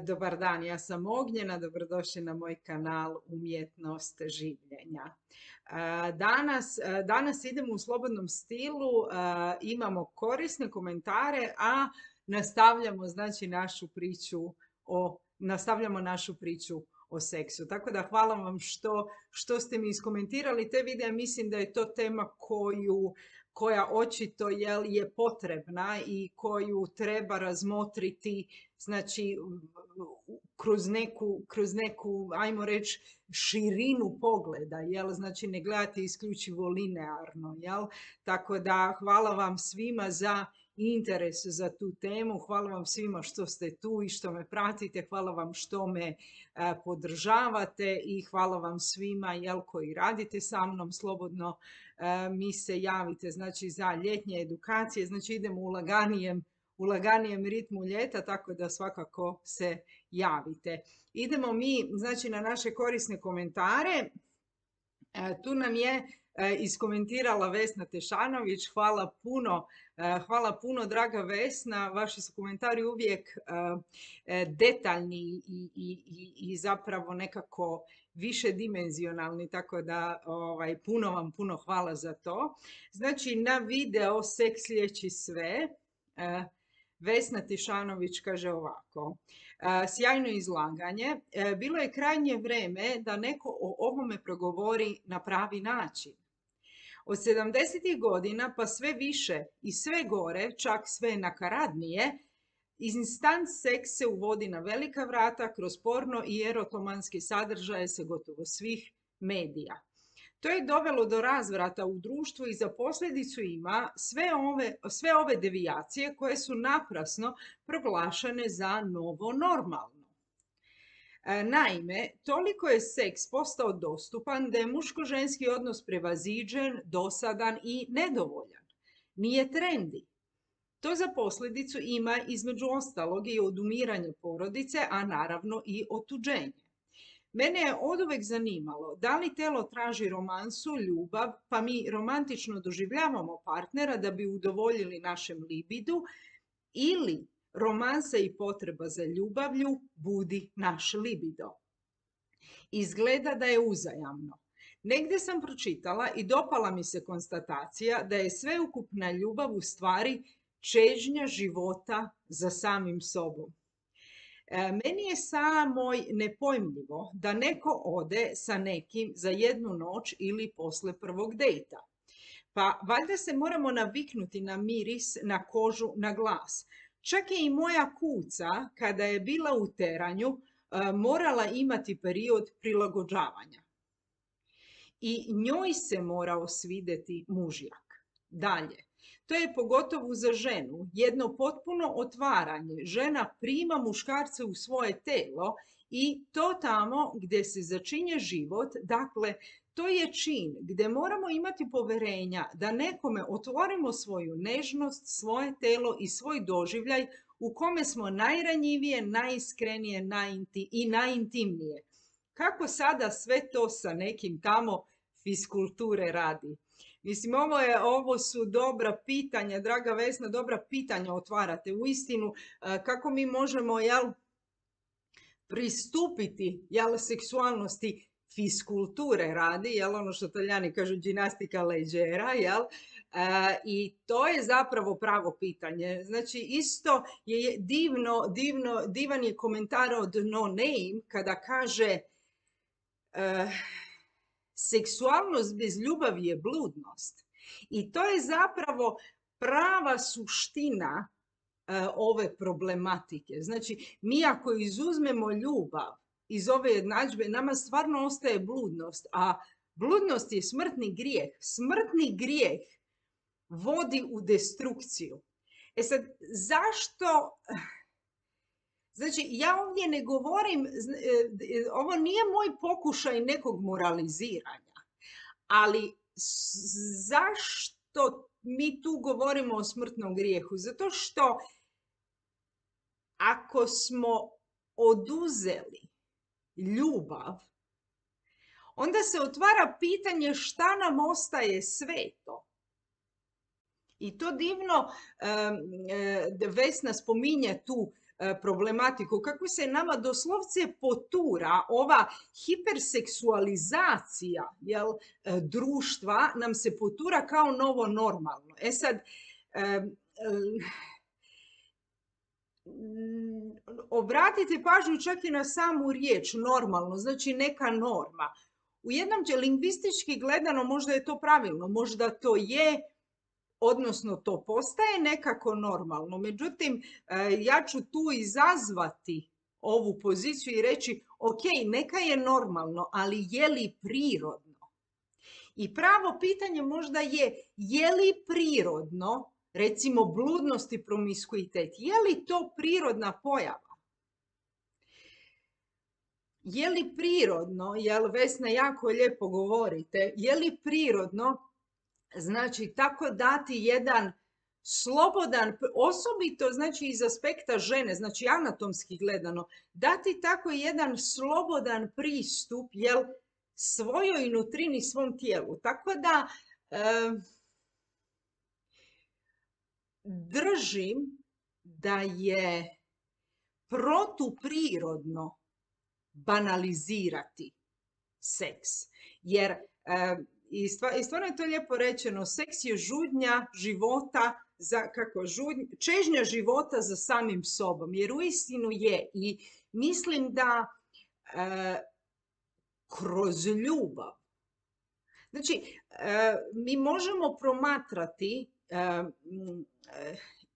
Dobar dan, ja sam Ognjena, dobrodošli na moj kanal Umjetnost življenja. Danas idemo u slobodnom stilu, imamo korisne komentare, a nastavljamo našu priču o seksu. Tako da hvala vam što ste mi iskomentirali te videe. Mislim da je to tema koja očito je potrebna i koju treba razmotriti, znači kroz neku, ajmo reći, širinu pogleda, znači ne gledati isključivo linearno, Tako da hvala vam svima za interes za tu temu, hvala vam svima što ste tu i što me pratite, hvala vam što me podržavate i hvala vam svima koji radite sa mnom. Slobodno mi se javite, znači, za ljetnje edukacije, znači idemo u laganijem ritmu ljeta, tako da svakako se javite. Idemo mi, znači, na naše korisne komentare. Tu nam je iskomentirala Vesna Tešanović. Hvala puno, draga Vesna. Vaši su komentari uvijek detaljni i zapravo nekako više dimenzionalni, tako da puno hvala za to. Znači, na video Seks liječi sve, Vesna Tešanović kaže ovako: sjajno izlaganje, bilo je krajnje vrijeme da neko o ovome progovori na pravi način. Od 70. godina pa sve više i sve gore, čak sve nakaradnije, instant seks se uvodi na velika vrata kroz porno i erotomanske sadržaje sa gotovo svih medija. To je dovelo do razvrata u društvu i za posljedicu ima sve ove devijacije koje su naprasno proglašene za novo normalno. Naime, toliko je seks postao dostupan da je muško-ženski odnos prevaziđen, dosadan i nedovoljan. Nije trendi. To za posljedicu ima između ostalog i odumiranje porodice, a naravno i otuđenje. Mene je oduvek zanimalo da li telo traži romansu, ljubav, pa mi romantično doživljavamo partnera da bi udovoljili našem libidu, ili romansa i potreba za ljubavlju budi naš libido. Izgleda da je uzajamno. Negdje sam pročitala i dopala mi se konstatacija da je sveukupna ljubav u stvari čežnja života za samim sobom. Meni je samo nepojmljivo da neko ode sa nekim za jednu noć ili posle prvog dejta. Pa valjda se moramo naviknuti na miris, na kožu, na glas. Čak je i moja kuca, kada je bila u teranju, morala imati period prilagođavanja. I njoj se morao svidjeti mužjak. Dalje. To je pogotovo za ženu jedno potpuno otvaranje. Žena prima muškarce u svoje telo i to tamo gdje se začinje život. Dakle, to je čin gdje moramo imati poverenja da nekome otvorimo svoju nežnost, svoje telo i svoj doživljaj u kome smo najranjivije, najiskrenije i najintimnije. Kako sada sve to sa nekim tamo fiskulture radi? Mislim, ovo su dobra pitanja, draga Vesna, dobra pitanja otvarate. Uistinu, kako mi možemo, pristupiti, seksualnosti fiskulture radi, ono što Talijani kažu ginastika leggera, i to je zapravo pravo pitanje. Znači, isto je divan je komentar od No Name kada kaže seksualnost bez ljubavi je bludnost. I to je zapravo prava suština ove problematike. Znači, mi ako izuzmemo ljubav iz ove jednadžbe, nama stvarno ostaje bludnost, a bludnost je smrtni grijeh. Smrtni grijeh vodi u destrukciju. E sad, zašto? Znači, ja ovdje ne govorim, ovo nije moj pokušaj nekog moraliziranja, ali zašto mi tu govorimo o smrtnom grijehu? Zato što ako smo oduzeli ljubav, onda se otvara pitanje šta nam ostaje sveto. I to divno Vesna spominje tu problematiku, kako se nama doslovce potura ova hiperseksualizacija, jel, društva nam se potura kao novo normalno. E sad, obratite pažnju čak i na samu riječ normalno, znači neka norma. U jednom lingvistički gledano možda je to pravilno, možda to je, odnosno to postaje nekako normalno. Međutim, ja ću tu izazvati ovu poziciju i reći, ok, neka je normalno, ali je li prirodno? I pravo pitanje možda je li prirodno, recimo bludnost i promiskuitet, je li to prirodna pojava? Je li prirodno, jel Vesna jako lijepo govorite, je li prirodno, znači tako dati jedan slobodan, osobito znači iz aspekta žene, znači anatomski gledano, dati tako jedan slobodan pristup, jel, svojoj nutrini, svom tijelu. Tako da držim da je protuprirodno banalizirati seks. Jer, i stvarno je to lijepo rečeno, seks je žudnja života, čežnja života za samim sobom. Jer uistinu je. I mislim da kroz ljubav, znači, mi možemo promatrati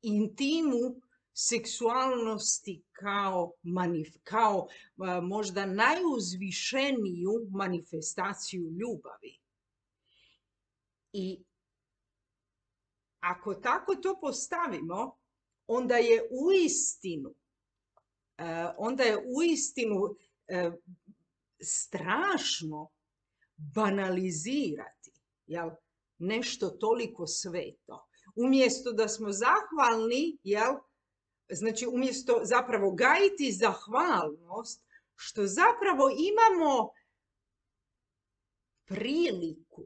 intimu seksualnosti kao možda najuzvišeniju manifestaciju ljubavi. I ako tako to postavimo, onda je uistinu strašno banalizirati, jel, nešto toliko sveto. Umjesto da smo zahvalni, jel, znači umjesto zapravo gajiti zahvalnost, što zapravo imamo priliku,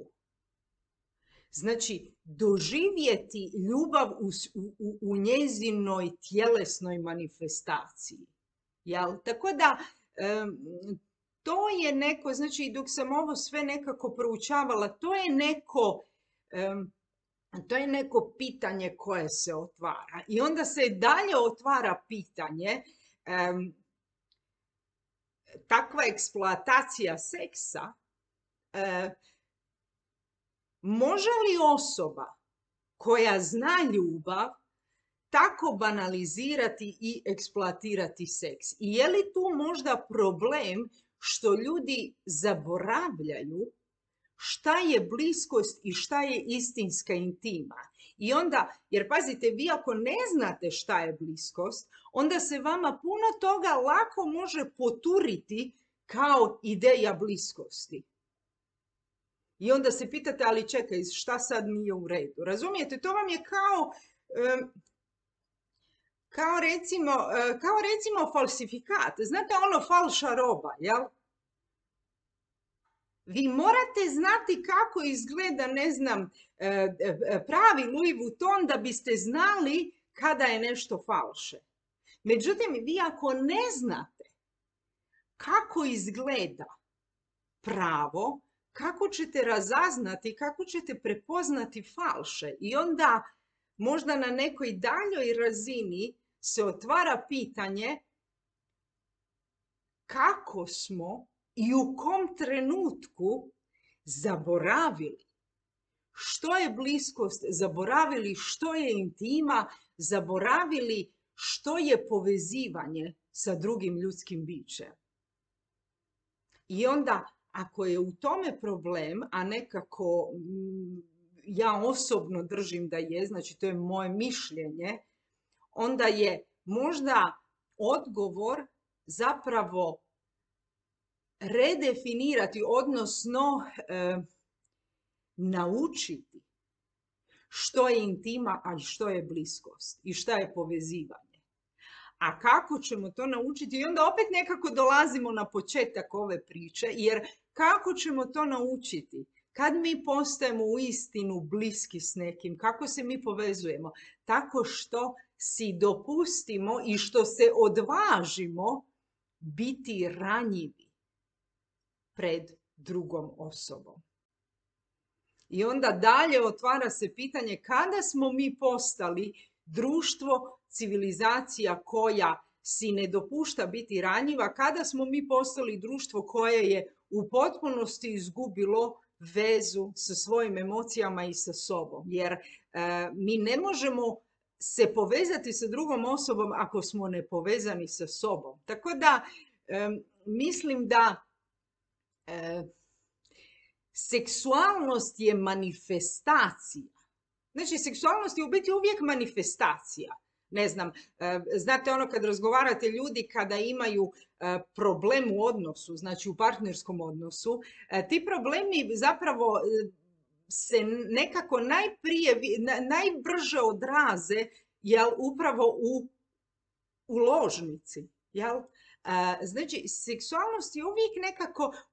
znači doživjeti ljubav u njezinoj tjelesnoj manifestaciji. Jel? Tako da to je neko, znači dok sam ovo sve nekako proučavala, to je neko pitanje koje se otvara. I onda se dalje otvara pitanje, takva eksploatacija seksa, može li osoba koja zna ljubav tako banalizirati i eksploatirati seks? I je li tu možda problem što ljudi zaboravljaju šta je bliskost i šta je istinska intima? I onda, jer pazite, vi ako ne znate šta je bliskost, onda se vama puno toga lako može poturiti kao ideja bliskosti. I onda se pitate, ali čekaj, šta sad nije u redu? Razumijete, to vam je kao recimo falsifikat. Znate ono falša roba, jel? Vi morate znati kako izgleda, ne znam, pravi Louis Vuitton da biste znali kada je nešto falše. Međutim, vi ako ne znate kako izgleda pravo, kako ćete razaznati, kako ćete prepoznati falše? I onda možda na nekoj daljoj razini se otvara pitanje kako smo i u kom trenutku zaboravili što je bliskost, zaboravili što je intima, zaboravili što je povezivanje sa drugim ljudskim bićem. I onda, ako je u tome problem, a nekako ja osobno držim da je, znači to je moje mišljenje, onda je možda odgovor zapravo redefinirati, odnosno naučiti što je intima, a što je bliskost i što je povezivanje. A kako ćemo to naučiti? I onda opet nekako dolazimo na početak ove priče, jer kako ćemo to naučiti Kad mi postajemo uistinu bliski s nekim, kako se mi povezujemo? Tako što si dopustimo i što se odvažimo biti ranjivi pred drugom osobom. I onda dalje otvara se pitanje kada smo mi postali društvo, civilizacija koja si ne dopušta biti ranjiva, kada smo mi postali društvo koje je u potpunosti izgubilo vezu sa svojim emocijama i sa sobom. Jer mi ne možemo se povezati sa drugom osobom ako smo nepovezani sa sobom. Tako da mislim da seksualnost je manifestacija. Znači, seksualnost je u biti uvijek manifestacija. Ne znam, znate ono kad razgovarate ljudi kada imaju problem u odnosu, znači u partnerskom odnosu, ti problemi zapravo se nekako najbrže odraze upravo u ložnici. Jel? Znači, seksualnost je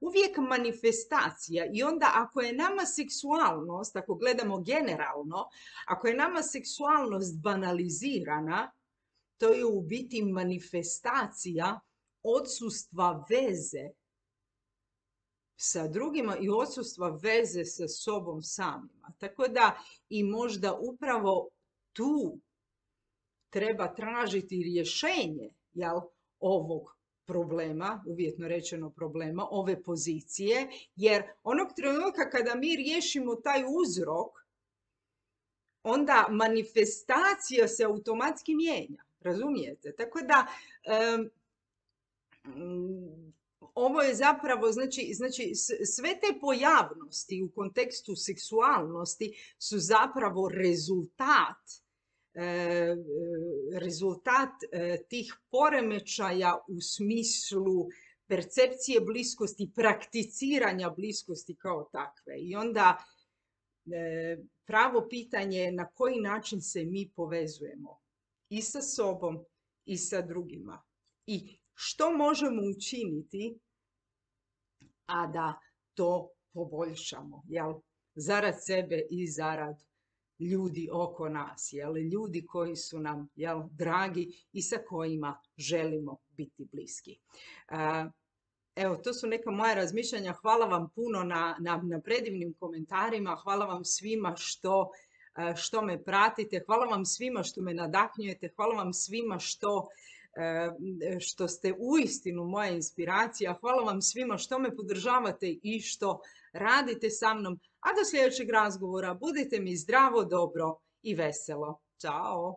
uvijek manifestacija i onda ako je nama seksualnost, ako gledamo generalno, ako je nama seksualnost banalizirana, to je u biti manifestacija odsustva veze sa drugima i odsustva veze sa sobom samima. Tako da i možda upravo tu treba tražiti rješenje, jel, ovog problema, uvjetno rečeno problema, ove pozicije, jer onog trenutka kada mi riješimo taj uzrok, onda manifestacija se automatski mijenja, razumijete? Tako da ovo je zapravo, znači sve te pojavnosti u kontekstu seksualnosti su zapravo rezultat tih poremećaja u smislu percepcije bliskosti, prakticiranja bliskosti kao takve. I onda pravo pitanje je na koji način se mi povezujemo i sa sobom i sa drugima. I što možemo učiniti, a da to poboljšamo, jel? Zarad sebe i zarad ljudi oko nas, jel? Ljudi koji su nam, jel, dragi i sa kojima želimo biti bliski. Evo, to su neka moja razmišljanja. Hvala vam puno na predivnim komentarima. Hvala vam svima što me pratite. Hvala vam svima što me nadahnjujete. Hvala vam svima što ste uistinu moja inspiracija. Hvala vam svima što me podržavate i što radite sa mnom. A do sljedećeg razgovora budite mi zdravo, dobro i veselo. Ćao!